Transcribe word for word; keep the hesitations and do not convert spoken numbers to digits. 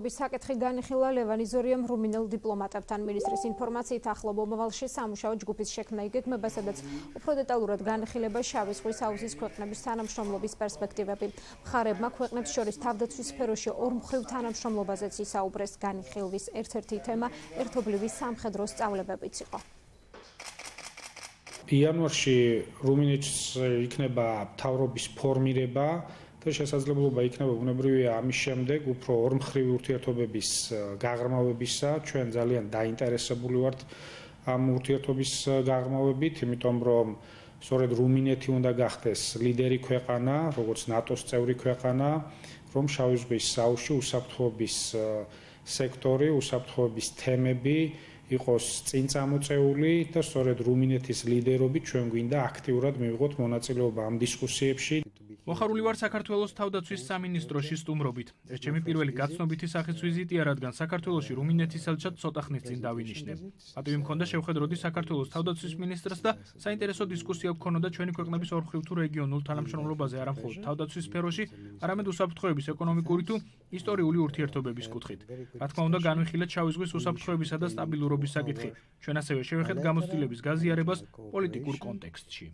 საკითხი განიხილა ლევან იზორიამ რუმინელ დიპლომატებთან. მინისტრის ინფორმაციით ახლო მომავალში სამუშაო ჯგუფის შექმნა იგეგმება, სადაც უფრო დეტალურად განიხილება შავი ზღვის აუზის ქვეყნების თანამშრომლობის პერსპექტივები. მხარებმა ქვეყნებს შორის თავდაცვის სფეროში ორმხრივ თანამშრომლობაზეც ისაუბრეს. განიხილვის ერთ-ერთი თემა ერთობლივი სამხედრო სწავლებებიც იყო. იანვარში რუმინეთს იქნება მთავრობის ფორმირება და შესაძლებლობა იქნება ბუნებრივია ამის შემდეგ უფრო ორმხრივი ურთიერთობების გაღრმავებისა. ჩვენ ძალიან დაინტერესებული ვართ ამ ურთიერთობის გაღრმავებით, იმიტომ რომ სწორედ რუმინეთი უნდა გახდეს ლიდერი ქვეყანა, როგორც ნატოს წევრი ქვეყანა, რომ შავი ზღვის აუზში უსაფრთხოების სექტორი, უსაფრთხოების თემები იყოს წინ წამოწეული და სწორედ რუმინეთის ლიდერობით ჩვენ გვინდა აქტიურად მივიღოთ მონაწილეობა ამ დისკუსიებში. მოხარული ვარ საქართველოს თავდაცვის სამინისტროში სტუმრობით. ეს ჩემი პირველი გაცნობითი სახის ვიზიტია, რადგან საქართველოში რუმინეთის ელჩად ცოტა ხნის წინ დავინიშნე. პატივი მქონდა შევხედროდი საქართველოს თავდაცვის მინისტრს და საინტერესო დისკუსია გქონოდა ჩვენი ქვეყნების ორმხრივ თუ რეგიონულ თანამშრომლობაზე, არა მხოლოდ თავდაცვის სფეროში, არამედ უსაფრთხოების ეკონომიკური თუ ისტორიული ურთიერთობების კუთხით. რა თქმა უნდა, განვიხილეთ შავი ზღვის უსაფრთხოებისა და სტაბილურობის საკითხი. ჩვენ ასევე შევეხეთ გამოცდილების გაზიარებას პოლიტიკურ კონტექსტში.